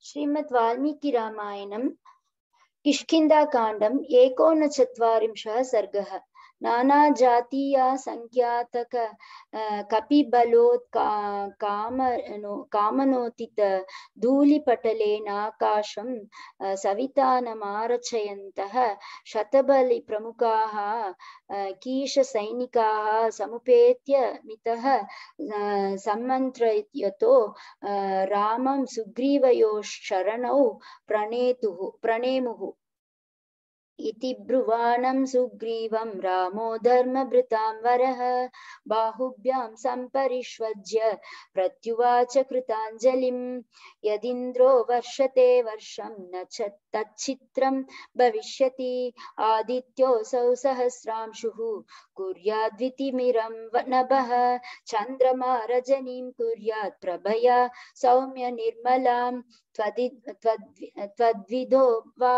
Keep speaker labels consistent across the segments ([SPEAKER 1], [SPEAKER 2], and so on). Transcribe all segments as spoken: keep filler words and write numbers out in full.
[SPEAKER 1] श्रीमद् वाल्मीकि रामायणं किष्किन्धाकाण्डम् एकोनचत्वारिंशः सर्गः। नानाजातीया संख्यातक कपिबलोत्का कामनो कामनोतित धूलिपटलेनाकाशं सवितानमारचयन्तः शतबलिप्रमुखाः कीशसैनिकाः समुपेत्य मितः सम्मन्त्रयतो रामं सुग्रीवयोश्चरणौ प्रणेतुः प्रणेमुः इति ब्रुवाणं सुग्रीवं रामो धर्मभृतां वरः बाहुभ्यां सम्परिष्वज्य प्रत्युवाच कृताञ्जलिं यदिन्द्रो वर्षते वर्षं न च तच्चित्रं भविष्यति आदित्योऽसौ सहस्रांशुः कुर्याद्वितिमिरं नभः चन्द्रमा रजनीं कुर्यात् प्रभया सौम्य निर्मलां त्वद्विदो वा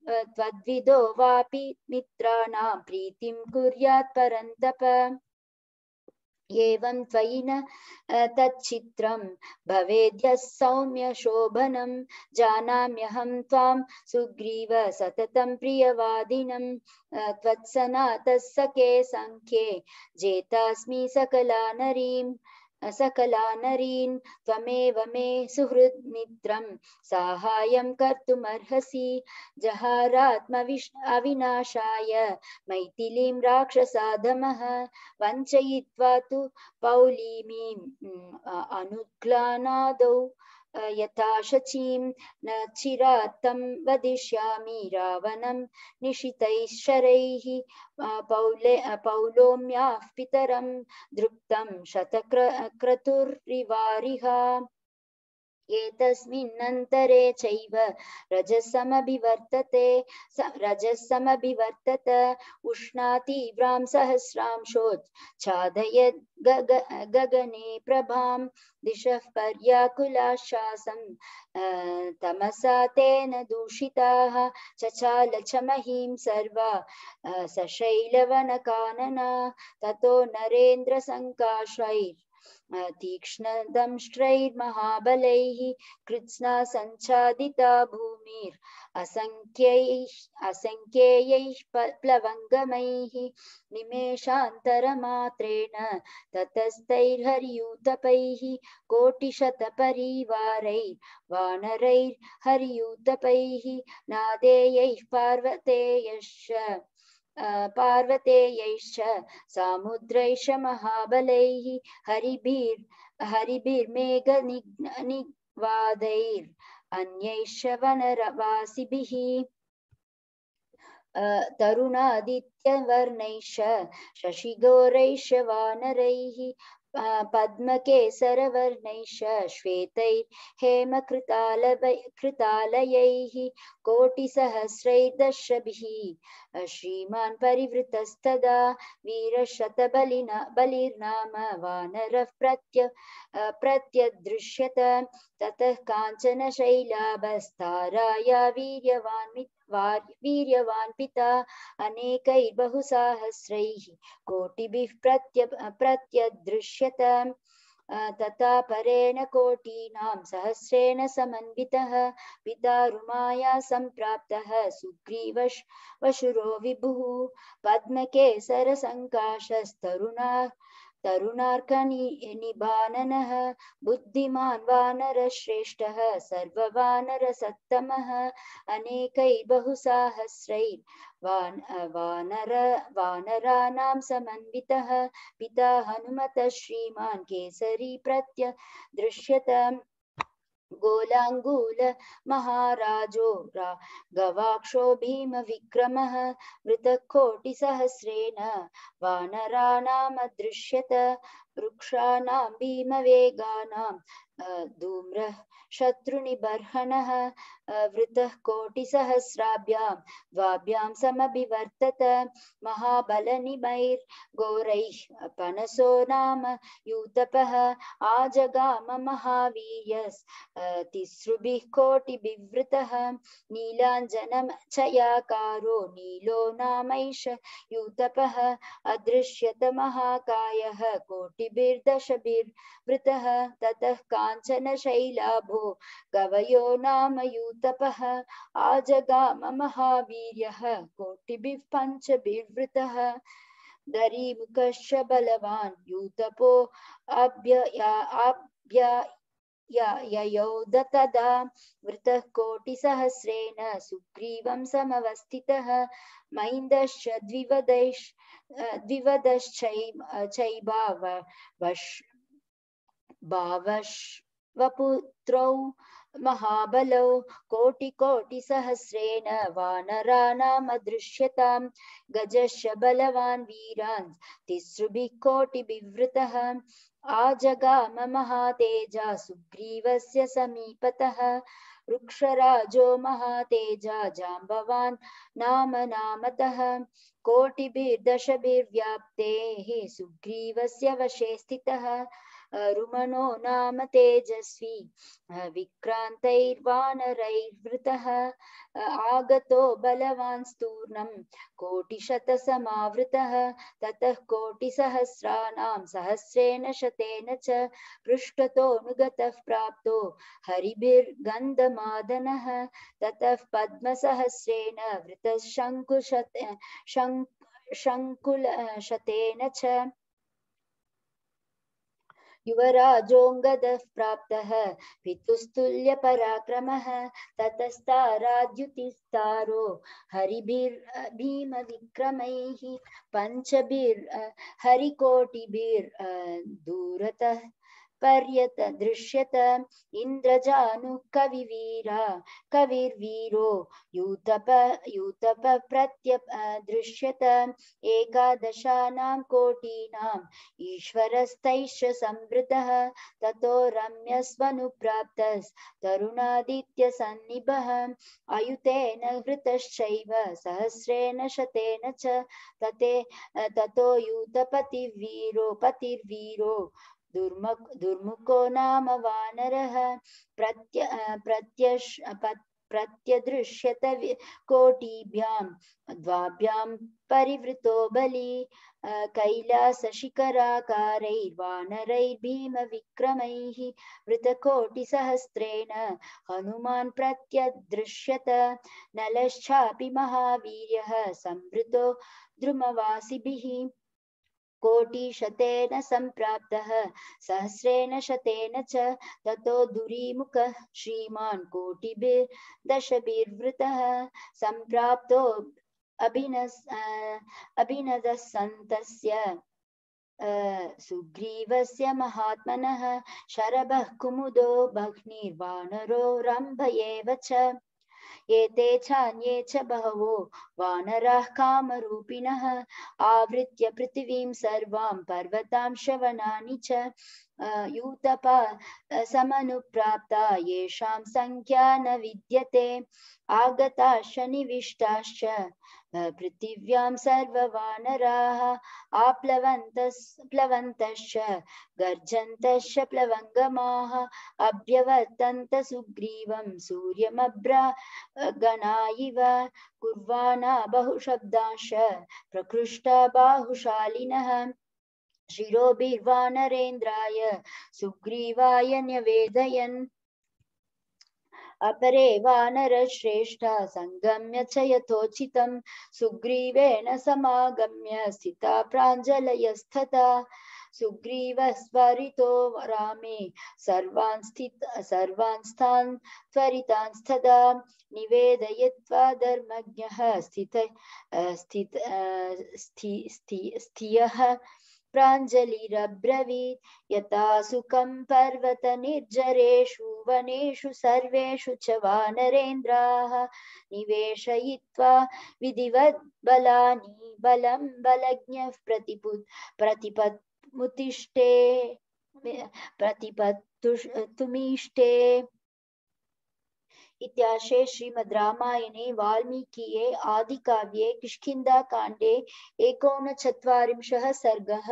[SPEAKER 1] त्वद्विदो वापि मित्राणां प्रीतिं कुर्यात् परन्तप एवं त्वयि न तच्चित्रं भवेद्यः सौम्य शोभनं जानाम्यहं त्वां सुग्रीव सततं प्रियवादिनं त्वत्सनातः सखे सङ्ख्ये जेतास्मि सकला नरीं सकला नरीन् त्वमेव मे सुहृद्मित्रं साहाय्यं कर्तुमर्हसि जहारात्मविश् अविनाशाय मैथिलीं राक्षसाधमः वञ्चयित्वा तु पौलीमीम् अनुग्लानादौ यथा शचीं न चिरात्तं वदिष्यामि रावणं निशितैः शरैः पौले पौलोम्याः पितरं दृप्तं शतक्रतुर्रिवारिहा एतस्मिन्नन्तरे चैव रजसमभिवर्तते रजसमभिवर्तत उष्णातीव्रां सहस्रांशोच्छादयद् गगने प्रभां दिशः पर्याकुलाश्वासं तमसा तेन दूषिताः चचाल च महीं सर्वा सशैलवनकानना ततो नरेन्द्रसङ्काशैः तीक्ष्णदंष्ट्रैर्महाबलैः कृत्स्ना सञ्चादिता भूमिर् असङ्ख्यैः असङ्ख्येयैः प्लवङ्गमैः निमेषान्तरमात्रेण ततस्तैर्हर्यूतपैः कोटिशतपरिवारैः वानरैर्हर्यूतपैः नादेयैः पार्वतेयश्च पार्वतेयैश्च सामुद्रैश्च महाबलैः हरिभिर् हरिभिर्मेघनिग्वादैर् अन्यैश्च वनवासिभिः तरुणादित्यवर्णैश्च शशिगौरैश्च वानरैः पद्मकेसरवर्णैश्च श्वेतैर्हेमकृतालयैः कोटिसहस्रैर्दशभिः श्रीमान् परिवृतस्तदा वीरशतबलिना बलिर्नाम वानरः प्रत्य प्रत्यदृश्यत ततः काञ्चनशैलाभस्ताराया वीर्यवान् वीर्यवान् पिता अनेकैर्बहुसाहस्रैः कोटिभिः प्रत्य प्रत्यदृश्यत तथा परेण कोटीनां सहस्रेण समन्वितः पिता रुमाया सम्प्राप्तः सुग्रीवशुरो विभुः पद्मकेसरसङ्काशस्तरुणा तरुणार्कनिबाननः बुद्धिमान् वानरश्रेष्ठः सर्ववानरसत्तमः अनेकैर्बहुसाहस्रैर् वानर वानराणां समन्वितः पिता हनुमतः श्रीमान् केसरी प्रत्यदृश्यत गोलाङ्गूल महाराजो गवाक्षो भीमविक्रमः मृतकोटिसहस्रेण वानराणामदृश्यत वृक्षाणां भीमवेगानां धूम्रः शत्रुनिबर्हणः वृतः कोटिसहस्राभ्यां द्वाभ्यां समभिवर्तत महाबलनिमैर्घोरैः पनसो नाम यूतपः आजगाम महावीर्यस् तिसृभिः कोटिभिवृतः नीलाञ्जनचयाकारो नीलो नामैष यूतपः अदृश्यत महाकायः कोटि कोटिभिर्दशभिर्वृतः ततः काञ्चनशैलाभो गवयो नाम यूतपः आजगाम महावीर्यः कोटिभिः पञ्चभिर्वृतः दरीमुखश्च बलवान् यूतपो अभ्य ययोध तदा वृतः कोटिसहस्रेण सुग्रीवं समवस्थितः महिन्दश्च द्विवदैश् द्विवदश्चैबावश्वपुत्रौ महाबलौ कोटिकोटिसहस्रेण वानराणामदृश्यतां गजश्च बलवान् वीरान् तिसृभिः कोटिभिर्वृतः आजगाम महातेजा सुग्रीवस्य समीपतः वृक्षराजो महातेजा जाम्बवान् नाम नामतः कोटिभिर्दशभिर्व्याप्तेः सुग्रीवस्य वशे स्थितः रुमनो नाम तेजस्वी विक्रान्तैर्वानरैर्वृतः आगतो बलवान् स्तूर्णं कोटिशतसमावृतः ततः कोटिसहस्राणां सहस्रेण शतेन च पृष्ठतोऽनुगतः प्राप्तो हरिभिर्गन्धमादनः ततः पद्मसहस्रेण वृतः शङ्कुशत शङ्कुलशतेन च युवराजोऽङ्गदः प्राप्तः पितुस्तुल्यपराक्रमः ततस्ताराद्युतिस्तारो हरिभिर्भीमविक्रमैः पञ्चभिर्हरिकोटिभिर्दूरतः पर्यत दृश्यत इन्द्रजानुः कविवीरा कविर्वीरो यूतप यूतप प्रत्यदृश्यत एकादशानां कोटीनाम् ईश्वरस्तैश्च संवृतः ततो रम्यस्वनुप्राप्तस्तरुणादित्यसन्निभः अयुतेन हृतश्चैव सहस्रेण शतेन च तते ततो यूतपतिर्वीरो पतिर्वीरो दुर्मुखो नाम वानरः प्रत्य प्रत्यश प्रत्यदृश्यत कोटिभ्यां द्वाभ्यां परिवृतो बली कैलासशिखराकारैर्वानरैर्भीमविक्रमैः वृतकोटिसहस्रेण हनुमान् प्रत्यदृश्यत नलश्चापि महावीर्यः संवृतो द्रुमवासिभिः कोटिशतेन सम्प्राप्तः सहस्रेण शतेन च ततो दुरीमुखः श्रीमान् कोटिभिर्दशभिर्वृतः सम्प्राप्तो अभिनस् अभिनदः सन्तस्य सुग्रीवस्य महात्मनः शरभः कुमुदो भग्निर्वानरो रम्भ एव च एते चान्ये च बहवो वानराः कामरूपिणः आवृत्य पृथिवीं सर्वां पर्वतां शवनानि च यूतपा समनुप्राप्ता येषां संख्या न विद्यते आगताश्च निविष्टाश्च पृथिव्यां सर्ववानराः आप्लवन्तश्च गर्जन्तश्च प्लवङ्गमाः अभ्यवर्तन्त सुग्रीवं सूर्यमभ्रागणा इव कुर्वाणा बहुशब्दांश्च प्रकृष्टा बाहुशालिनः शिरोभिर्वानरेन्द्राय सुग्रीवाय न्यवेदयन् अपरे वानरश्रेष्ठा संगम्य च यथोचितं सुग्रीवेण समागम्य स्थिता प्राञ्जलयस्तथा सुग्रीवस्वरितो रामे सर्वान् स्थित सर्वान् स्थान् त्वरितांस्तदा निवेदयित्वा धर्मज्ञः स्थित स्थित स्थियः प्राञ्जलिरब्रवीत् यथा सुखं पर्वतनिर्जरेषु वनेषु सर्वेषु च वानरेन्द्राः निवेशयित्वा विधिवत् बलानि बलं बलज्ञः प्रतिपुत् प्रतिपत्मुतिष्ठे प्रतिपत्तुमीष्टे इत्यार्षे श्रीमद् रामायणे वाल्मीकिये आदिकाव्ये किष्किन्धाकाण्डे एकोनचत्वारिंशः सर्गः।